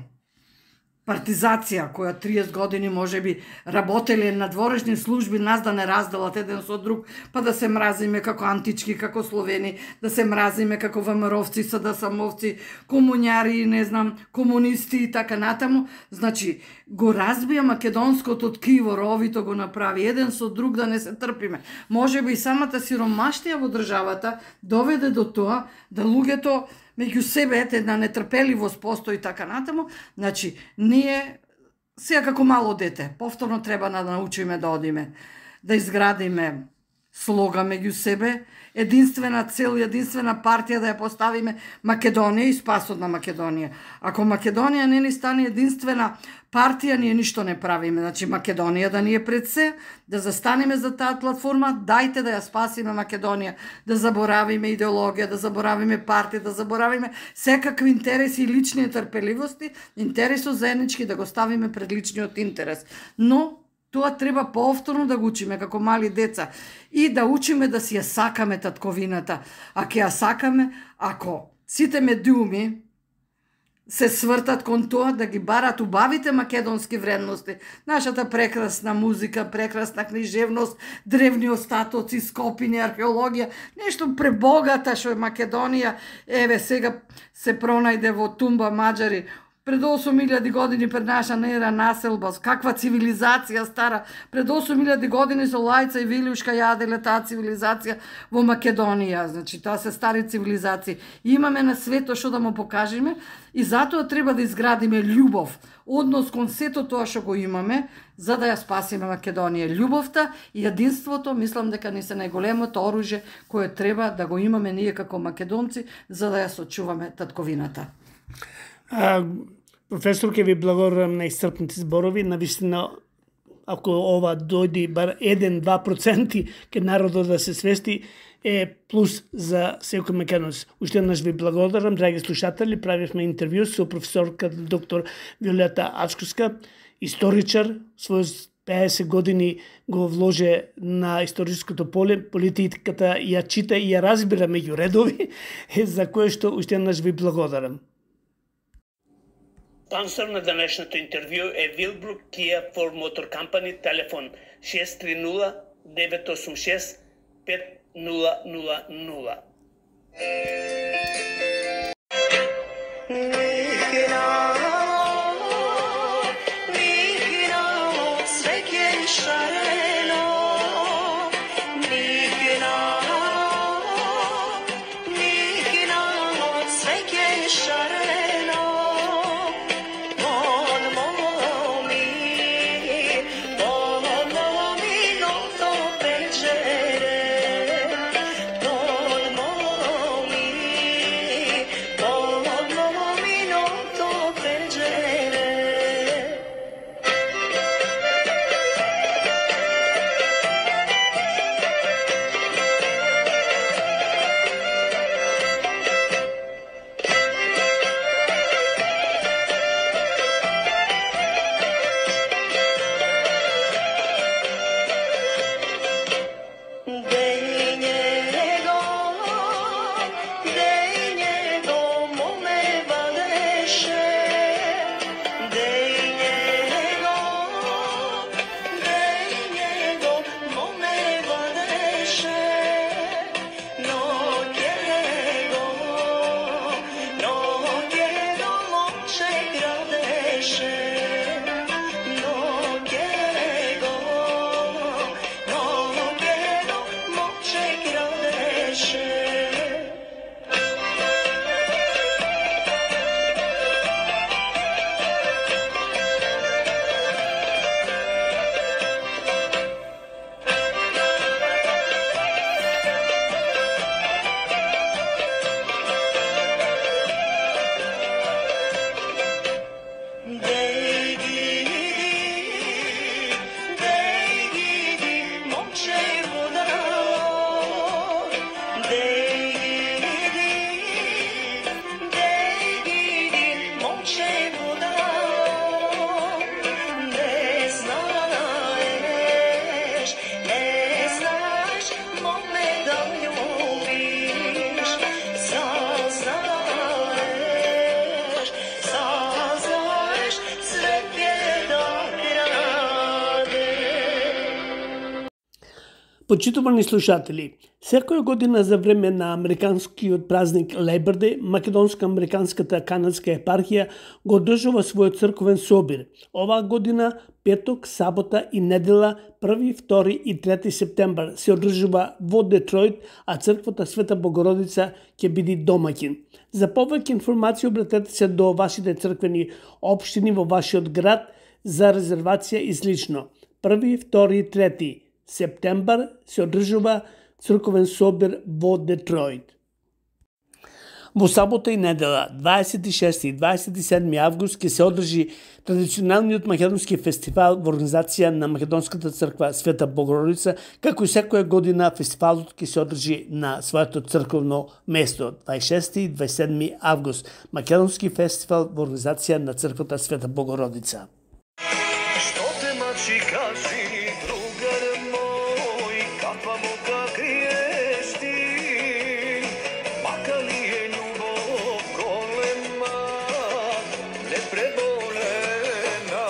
партизација, која 30 години може би работеле на дворешни служби, нас да не разделат еден со друг, па да се мразиме како антички, како словени, да се мразиме како ВМРО-вци, СДСМ-овци, комуњари, не знам, комунисти и така натаму. Значи, го разбија македонското ткиво, ровито го направи, еден со друг да не се трпиме. Може би и самата сиромаштија во државата доведе до тоа да луѓето меѓу себе една нетрпеливост постои така натаму. Значи, ние сега како мало дете, повторно треба да научиме да одиме, да изградиме слога меѓу себе, единствена цел, единствена партија да ја поставиме Македонија и спасот на Македонија. Ако Македонија не ни стане единствена партија, ние ништо не правиме. Значи, Македонија да ни е пред се, да застанеме за таа платформа, дајте да ја спасиме Македонија, да заборавиме идеологија, да заборавиме партија, да заборавиме секакви интереси и лични трпеливости, интересот заеднички да го ставиме пред личниот интерес. Но тоа треба повторно да го учиме како мали деца и да учиме да си ја сакаме татковината. А ќе ја сакаме ако сите медиуми се свртат кон тоа да ги барат убавите македонски вредности, нашата прекрасна музика, прекрасна книжевност, древни остатоци, скопини, археологија, нешто пребогата што е Македонија. Еве сега се пронајде во тумба маđари пред 8000 години пред наша ера населба, каква цивилизација стара, пред 8000 години со Лајца и Вилјушка јаделе таа цивилизација во Македонија. Значи, таа се стари цивилизации. Имаме на свето што да му покажеме и затоа треба да изградиме љубов, однос кон сето тоа што го имаме, за да ја спасиме Македонија. Љубовта и единството, мислам дека ни се најголемото оружје кое треба да го имаме ние како македонци, за да ја сочуваме татковината. Професор, ке ви благодарам на исцрпните зборови. Навистина, ако ова дојди бар 1-2% ке народот да се свести, е плюс за секој македонец. Уште еднаш ви благодарам, драги слушатели. Правивме интервју со професорка доктор Виолета Ачковска, историчар, свој 50 години го вложи на историското поле, политиката ја чита и ја разбира меѓу редови, за кое што уште еднаш ви благодарам. Спонсор на денешното интервју е Вилбрук Kia for Motor Company, телефон 630-986-5000. Sve je šareno, nigdje Почитувани слушатели, секоја година за време на американскиот празник Labor Day, македонско-американската канадска епархија го одржува својот црковен собир. Оваа година, петок, сабота и недела, 1, 2 и 3 септембар се одржува во Детройт, а црквата Света Богородица ќе биде домаќин. За повеќе информации обратете се до вашите црквени општини во вашиот град за резервација и слично. 1, 2 и 3 септембар се одржува црковен собир во Детройт. Во сабота и недела, 26 и 27 август, ќе се одржи традиционалниот македонски фестивал во организација на Македонската црква Света Богородица, како и секоја година фестивалот ќе се одржи на своето црковно место, 26 и 27 август, Македонски фестивал во организација на црквата Света Богородица. Што те мачи кажи, другар мој, каква мука криеш ти, мака ли е љубов голема, непреболена.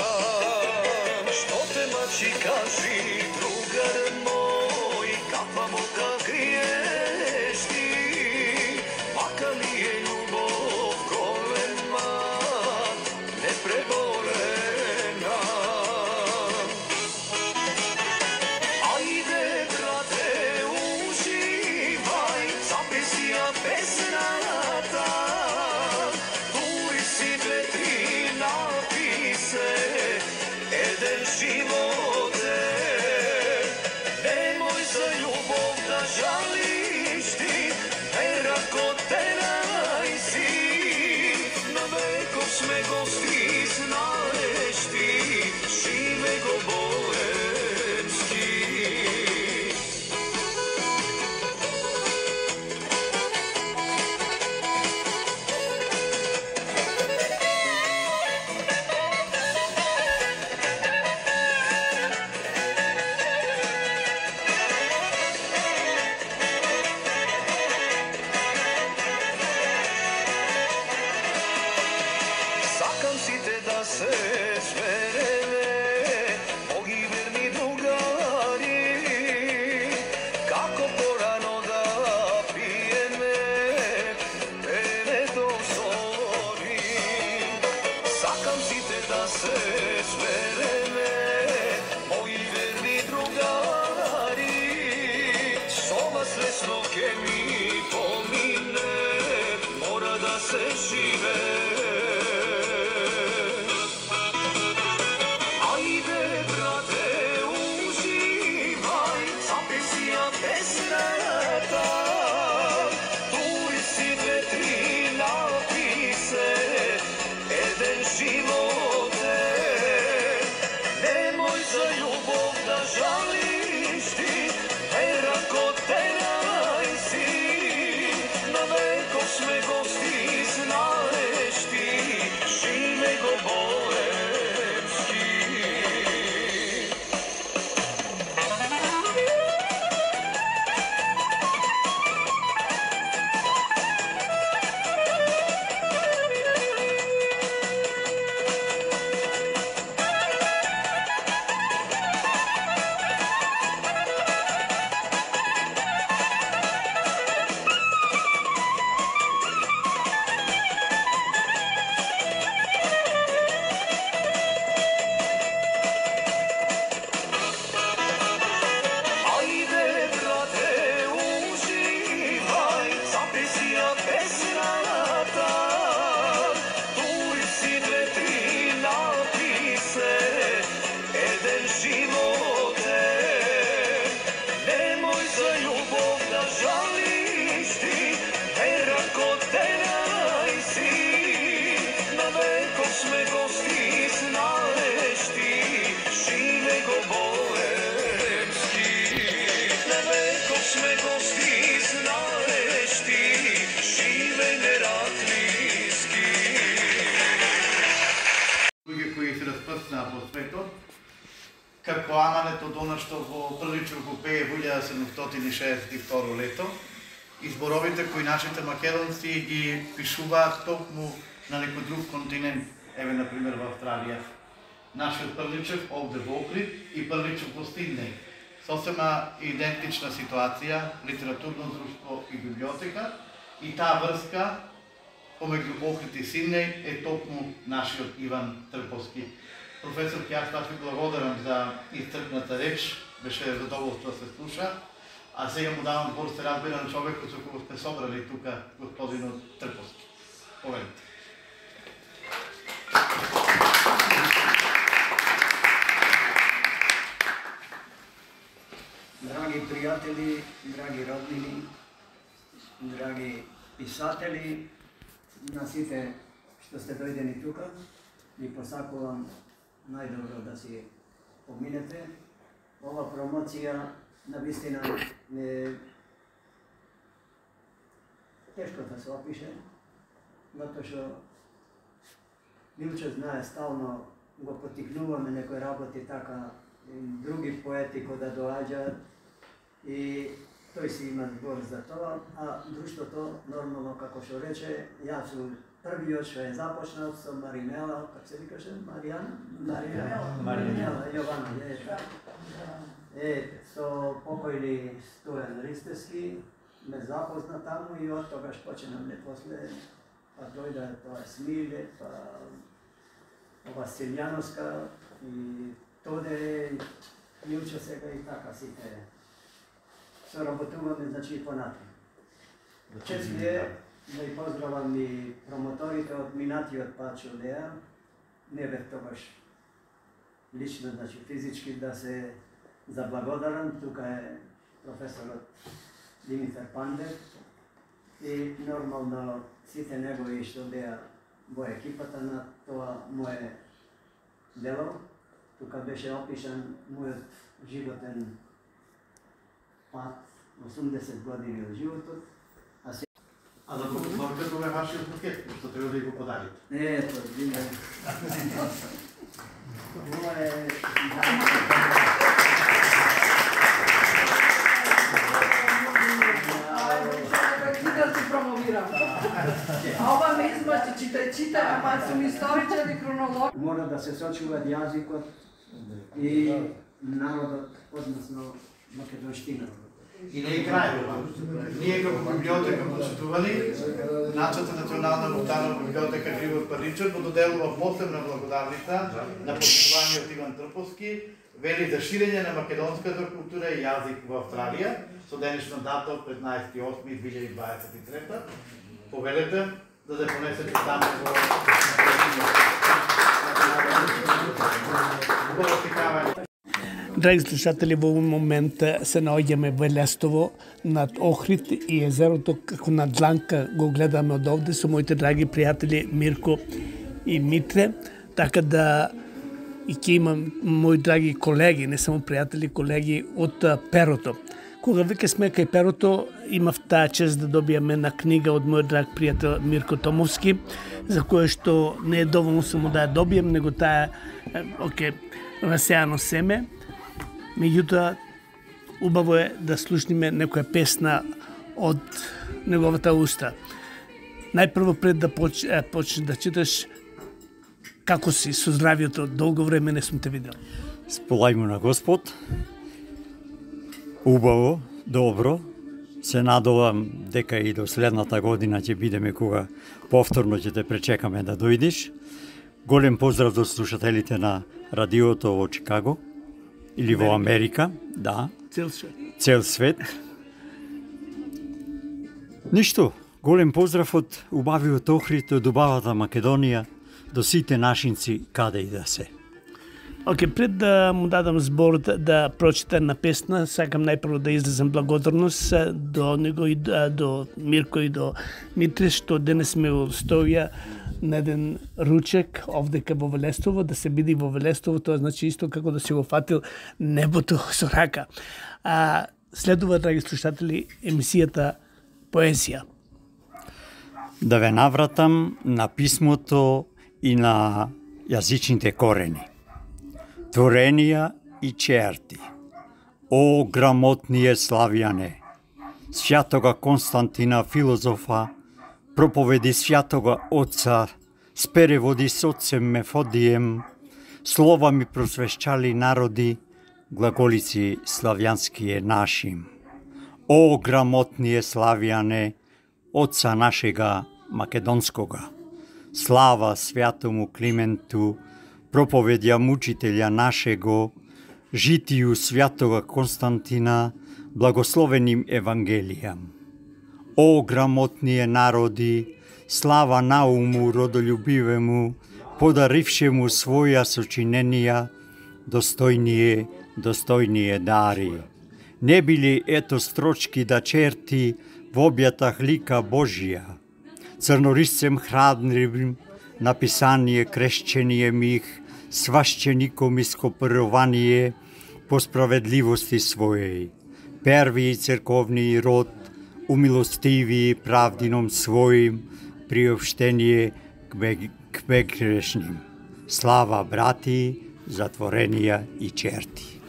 Што те мачи кажи, другар мој, каква мука криеш ти, мака ли е љубов голема, непреболена. Sme gosti znaš ti, žive go bolemski. Сакам сите да се свереме, моги верни другари, како порано да пиеме, пене до зори. Сакам сите да се свереме, моги верни другари, со вас лесно ке ми помине, мора да се живе. Sme gosti znaš ti, žive go bolemski. Sme gosti znaš ti, žive go bolemski. Na veko sme gosti znaš ti, žive нератлиски. Луѓе кои се распрснаа по светот, како Аманет од она што во Приличок го пее во 1762 лето, и зборовите кои нашите македонци ги пишуваат токму на некој друг континент, еве например во Австралија. Нашиот Приличок овде во Охрид и Приличок во Стиднеј сосема идентична ситуација, литературно друштво и библиотека, и таа врска помеѓу Охрид и Сиднеј е токму нашиот Иван Трповски. Професор, јас ви благодарам за исцрпната реч, беше задоволство да се слуша, а сега му давам збор, се разбира на човекот со кој сте собрали тука, господинот Трповски. Повелите. Драги пријатели, драги роднини, драги писатели, на сите што сте дојдени тука, ви посакувам најдобро да си поминете. Ова промоција навистина е тешко да се опише, затоа што Милче знае стално го потикнуваме некои работи така, други поети кои да доаѓаат и тој си има збор за тоа, а друштвото нормално како што рече, јас сум првиот што е започнал со Маринела, како се викаше, Маринела, Јована, со покојни Стојан Ристевски, ме запозна таму и од тогаш почнавме после, па дојде тоа Смиле, па ова Силјановска и Тоде, Јуче сега и така сите соработуваме, значи понатаму. Чест ми е да и поздравам и промоторите од минатиот пат што одеа. Не бев тогаш лично, значи физички да се заблагодарам. Тука е професорот Димитар Пандев и нормално сите негови што одеа во екипата на тоа мое дело. Тука беше опишан мојот животен пат, 80 години од животот. А за покупавка тоа е вашиот пакет, што треба да го подарите. Ето, видите. Ова е... Да се промовирам. А ова ме измачи, чита, ама сум историчар и хронолог. Мора да се сочуваат јазикот и народот, односно македонштина. И не е крај. Ние како библиотека почитувани, нашата национална муштана библиотека Григор Парничар го доделува посебна благодарница на почитуваниот Иван Трповски, вели за ширење на македонската култура и јазик во Австралија, со денешна дата од 15.8.2023. Повелете да се понесете таму во Драги слушатели, во овој момент се наоѓаме во Лестово над Охрид и езерото, како на дланка го гледаме од овде со моите драги пријатели Мирко и Митре, така да и ќе имам мои драги колеги, не само пријатели, колеги од Перото. Кога веќе сме кај Перото, имав таа чест да добијаме на книга од мојот драг пријател Мирко Томовски, за која што не е доволно само да ја добијам, него таа расеано семе. Меѓутоа, убаво е да слушниме некоја песна од неговата уста. Најпрво пред да почнеш да читаш, како си со здравието, долго време не сум те видел. Сполајмо на Господ. Убаво, добро. Се надовам дека и до следната година ќе бидеме кога повторно ќе те пречекаме да дојдеш. Голем поздрав до слушателите на радиото во Чикаго или во Америка, да. Цел свет. Цел свет. Ништо, голем поздрав од убавиот Охрид, од убавата Македонија, до сите нашинци каде и да се. Пред да му дадам збор да прочита на песна, сакам најпрво да излезам благодарност до него и до Мирко и до Митре, што денес ме устоја на еден ручек овдека во Велестово, да се биде во Велестово, тоа значи исто како да си го фатил небото со рака. Следува, драги слушатели, емисијата Поезија. Да ве навратам на писмото и на јазичните корени. Творенија и черти. О, грамотније славјане, свјатога Константина филозофа, проповеди свјатога Отца, с переводи с Отцем Мефодием, слова ми просвещали народи, глаголици славјански е нашим. О, грамотние славјане, отца нашега македонскога. Слава святому Клименту, проповедја мучителја нашего, житију святога Константина, благословеним Евангелијам. О, грамотние народи, слава науму родолюбивему, подарившему своја сочиненија, достојние дари. Не били ето строчки да черти во објатах лика Божија, црнорисцем храбрим, написание крещение мих, сващеником ископирувание по справедливости својеј, први црковни род, умилостиви правдином својим, приобштение к безгрешним. Слава, брати, затворенија и черти.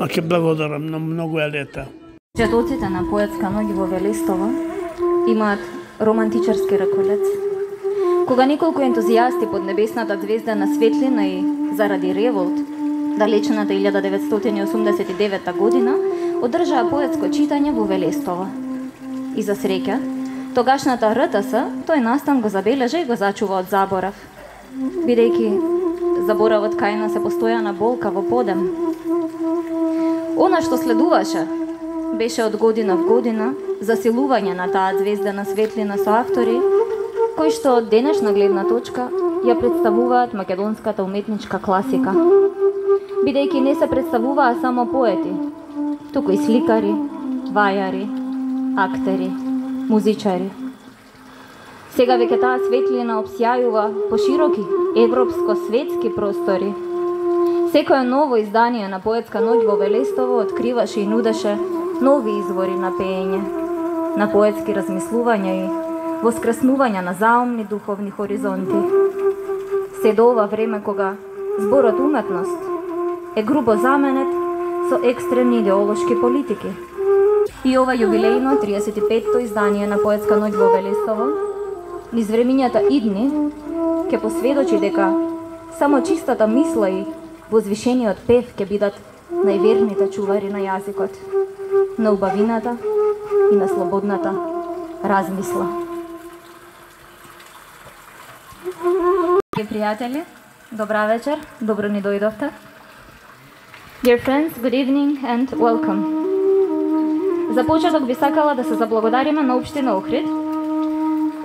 Аке благодарам, на многу е лета. Четоците на поетска ноќ во Велестова имаат романтичарски раколец. Кога неколку ентузијасти под небесната звезда на светлина и заради револт, далечната 1989 година, одржаа поетско читање во Велестова. И за среќа, тогашната РТС тој настан го забележа и го зачува од заборав, бидејќи заборавот кај нас е постојана болка во подем. Она што следуваше беше од година в година засилување на таа звездена светлина со автори кои што од денешна гледна точка ја представуваат македонската уметничка класика. Бидејќи не се представуваа само поети, туку и сликари, вајари, актери, музичари. Сега веќе таа светлина обсјајува по широки европско-светски простори. Секое ново издание на поетска ноќ во Велестово откриваше и нудеше нови извори на пеење, на поетски размислувања и воскреснувања на заумни духовни хоризонти. Се до ова време кога зборот уметност е грубо заменет со екстремни идеолошки политики. И ова јубилејно 35-то издание на поетска ноќ во Велестово низ времињата идни ќе посведочи дека само чистата мисла и возвишениот пев ќе бидат најверните чувари на јазикот, на убавината и на слободната размисла. Пријатели, добра вечер, добро ни дојдовте. Dear friends, good evening and welcome. За почеток би сакала да се заблагодариме на Општина Охрид,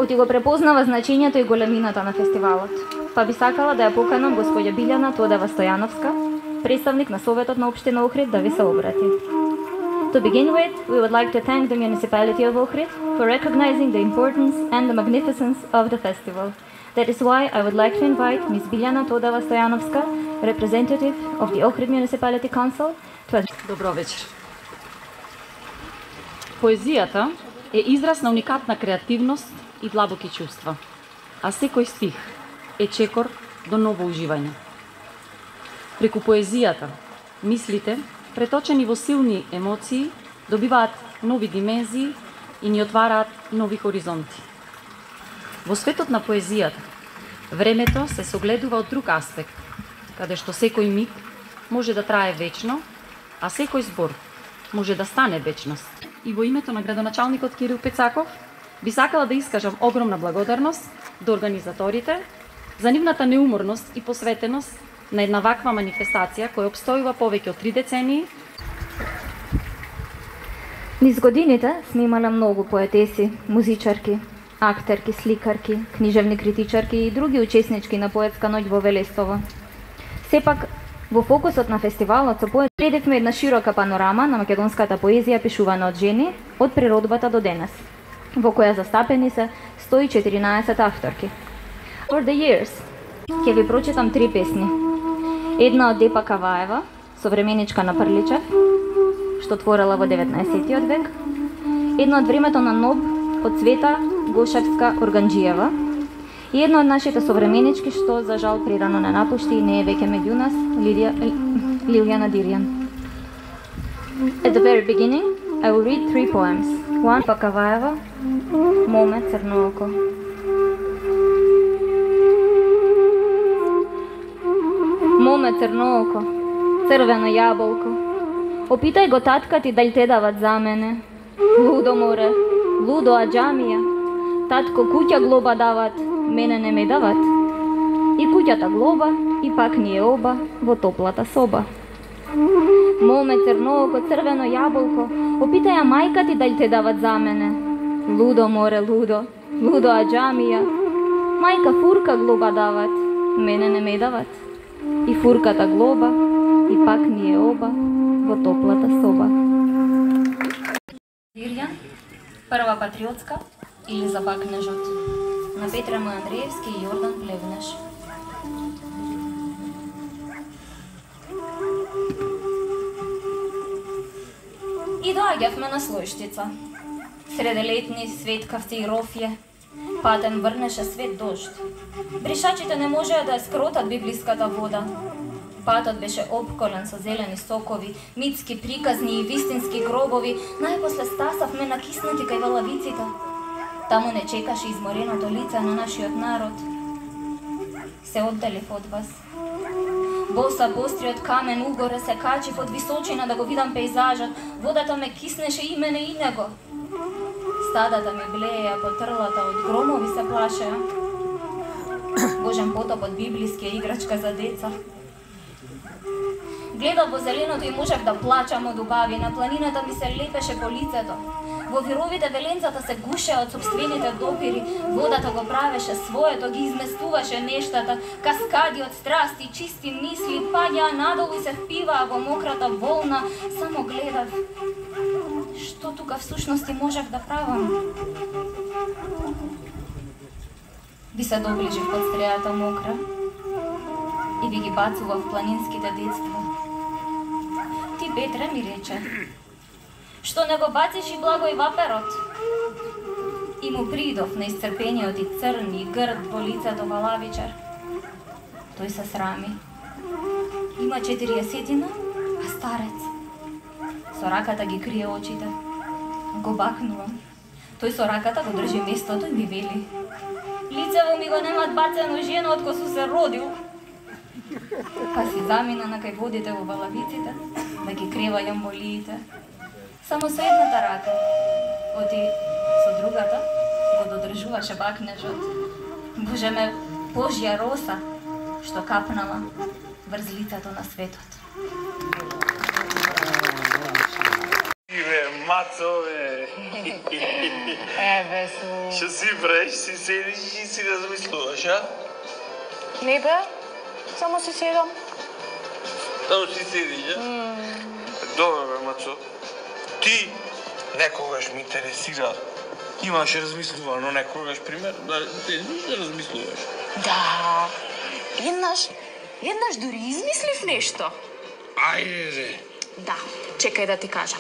кој го препознава значењето и големината на фестивалот. Па би сакала да ја поканам господја Билјана Тодева Стојановска, представник на Советот на Општина Охрид, да ви се обрати. To begin with, we would like to thank the municipality of Ohrid for recognizing the importance and the magnificence of the festival. That is why I would like to invite Ms. Biljana Todeva Stojanovska, representative of the Ohrid Municipality Council, to... Добро вечер. Поезијата е израз на уникатна креативност и длабоки чувства, а секој стих е чекор до ново уживање. Преку поезијата, мислите, преточени во силни емоции, добиваат нови димензии и ни отвараат нови хоризонти. Во светот на поезијата, времето се согледува од друг аспект, каде што секој миг може да трае вечно, а секој збор може да стане вечност. И во името на градоначалникот Кирил Пецаков, би сакала да искажам огромна благодарност до организаторите за нивната неуморност и посветеност на една ваква манифестација која обстојува повеќе од 3 децении. Низ годините сме имале многу поетеси, музичарки, актерки, сликарки, книжевни критичарки и други учеснички на поетска ноќ во Велестово. Сепак, во фокусот на фестивалот со поет следевме една широка панорама на македонската поезија пишувана од жени од природбата до денес, во која застапени се 114 авторки. For the years, ќе ви прочитам 3 песни. Една од Депа Каваева, современичка на Прличев, што творела во 19 век. Една од времето на Ноб, од Цвета Гошевска Органџиева. И една од нашите современички, што за жал прирано не напушти и не е веќе меѓу нас, Лилјана Дирјан. At the very beginning, I will read 3 poems. One, Депа Каваева, Моме Црнооко. Моме Црнооко, црвено јаболко. Опитај го татка ти дали те дават за мене. Лудо море, лудо аџамија. Татко куќа глоба дават, мене не ме дават. И куќата глоба, и пак ние оба во топлата соба. Моме црнооко, црвено јаболко, опитај ја мајка ти дали те дават за мене. Лудо море, лудо, лудо аџамија. Мајка фурка глоба дават, мене не ме дават. И фурката глоба, и пак ние оба во топлата соба. Дирјан, прва патриотска или за бакнежот, на Петра М. Андреевски и Јордан Плевнеш. И доаѓавме на Слојштица. Сределетни светкавци и рофје. Патем врнеше свет дожд. Бришачите не можеа да ја скротат библиската вода. Патот беше обколен со зелени сокови, митски приказни и вистински гробови. Најпосле стасавме накиснати кај валавиците. Таму не чекаше измореното лице на нашиот народ. Се оддалив од вас. Боса постриот камен угоре се качив од височина да го видам пейзажот. Водата ме киснеше и мене и него. Стадата ми блееа по трлата, од громови се плашеа. Божен потоп од библискија играчка за деца. Гледав во зеленото и можев да плачам од убави, на планината ми се лепеше по лицето. Во вировите веленцата се гушеа од собствените допири, водата го правеше своето, ги изместуваше нештата, каскади од страсти, чисти мисли, паѓаа надолу и се впиваа во мократа волна. Само гледав. Што тука всушност можев да правам? Ви се доближив под стрејата мокра и ви ги бацував планинските детства. Ти, Петре, ми рече, што не го бациш и Благој ваперот? И му придов на исцрпениот и црни грд во лицето валавичар. Тој се срами. Има 40, а старец. Со раката ги крие очите. Го бакнувам. Тој со раката го држи местото и ми вели: лицево ми го немат бацено жена од кога су се родил. Па си замина на кај водите во валавиците, да ги кревајам болиите. Само со едната рака, оти со другата го додржуваше бакнежот. Боже ме, Божја роса, што капнала врз лицето на светот. Иве, мацо, бе. Еве су. Што си правиш, си седиш и си размислуваш, а? Не бе, само си седам. Само си седиш, а? Добре, бе, мацо. Ти некогаш ми интересира. Имаш размислувано некогаш, пример, да размислуваш. Да, еднаш дури измислив нешто. Ајде. Да, чекај да ти кажам.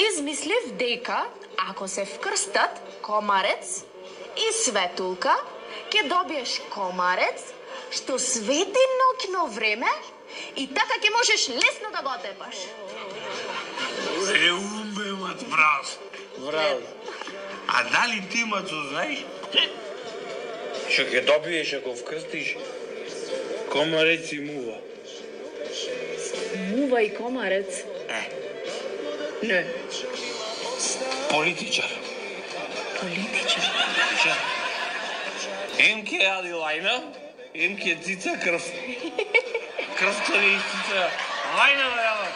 Измислив дека ако се вкрстат комарец и светулка, ќе добиеш комарец што свети ноќно време и така ќе можеш лесно да го тепаш. Умбе, мат, браво. А дали ти, мацо, знаеш што ќе добиеш ако вкрстиш комарец и мува? Мува и комарец? Не. Политичар. Ем ке јади лајна, ем ке цица крв. Крвта не цица. Лајна да јада.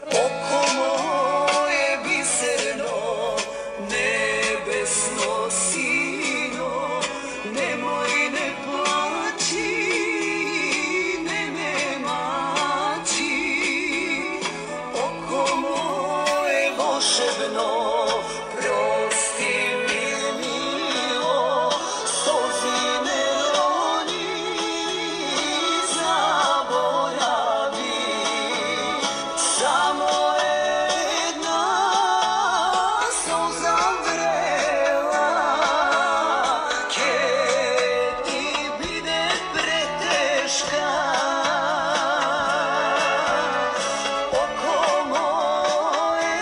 Око моје бисерно, небесно сино, немој не плачи, не ме мачи. Око моје волшебно, прости ми мило, солзи не рони, заборави. Само една солза врела, ке ти биде претешка. Око мое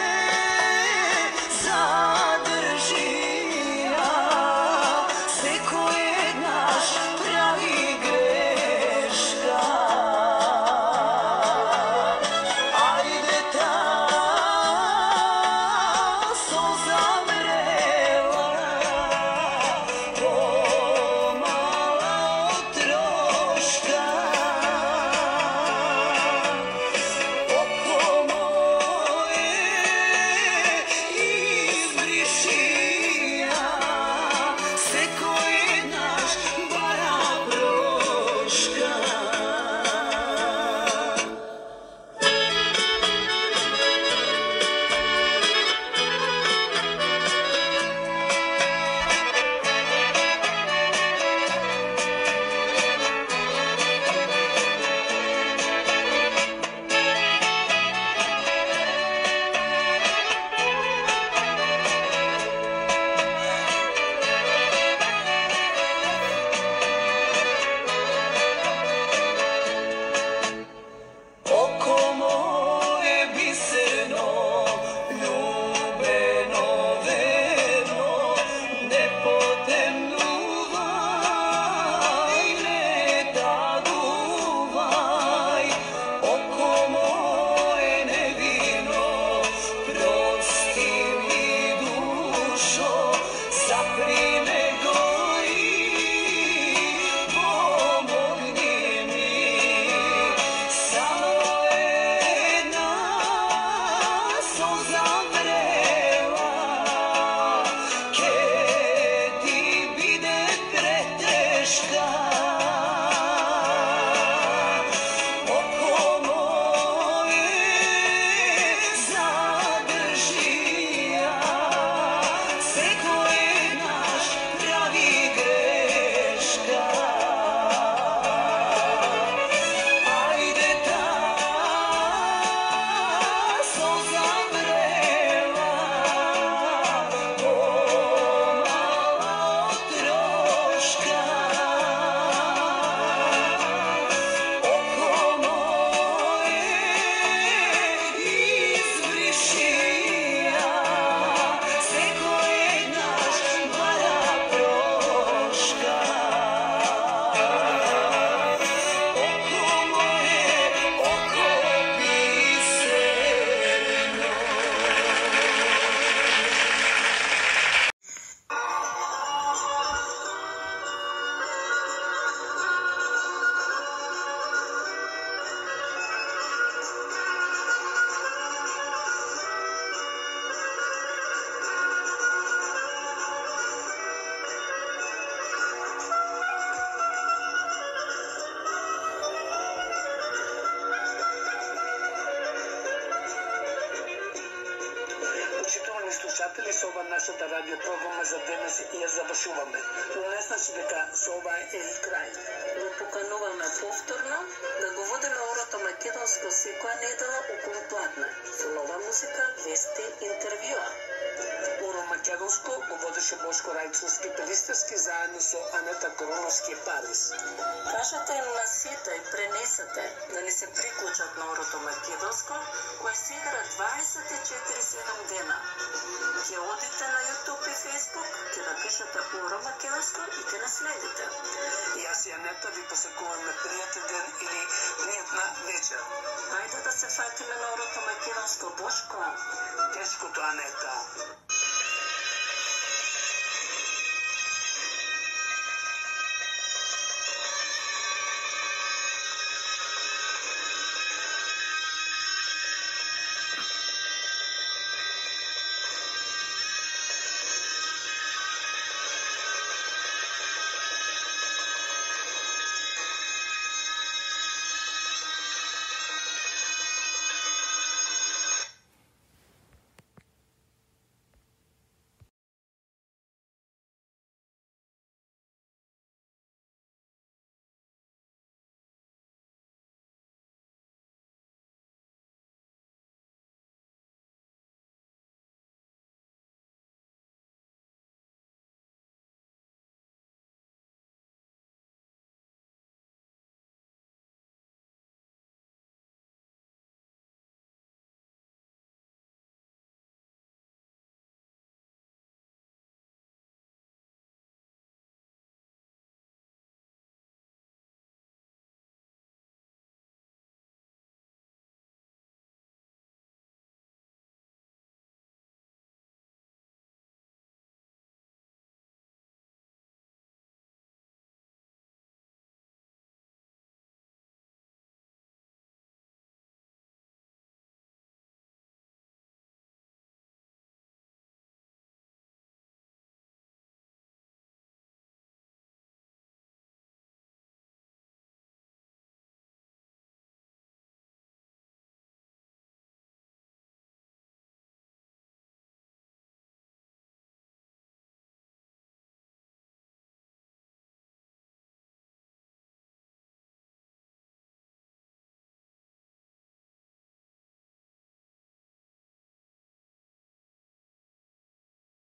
слушатели, со ова нашата радиопрограма за денес ја завршуваме. Но не значи дека со ова е и крај. Го покануваме повторно да го водиме Орото македонско секоја недела околу пладне. Со нова музика, вести, интервјуа. Оро македонско го водеше Бошко Рајчовски пелистерски заедно со Анета Короновски Парис. Кажете им на сите и пренесете да ни се приклучат на Орото македонско, кое се игра 24/7 дена. Ќе одите на YouTube и Facebook, ќе напишете Оро македонско и ќе наследите. Јас и Анета ви посакуваме пријатен ден или пријатна вечер. Ајде да се фатиме на Орото македонско, Бошко. Тешкото, Анета.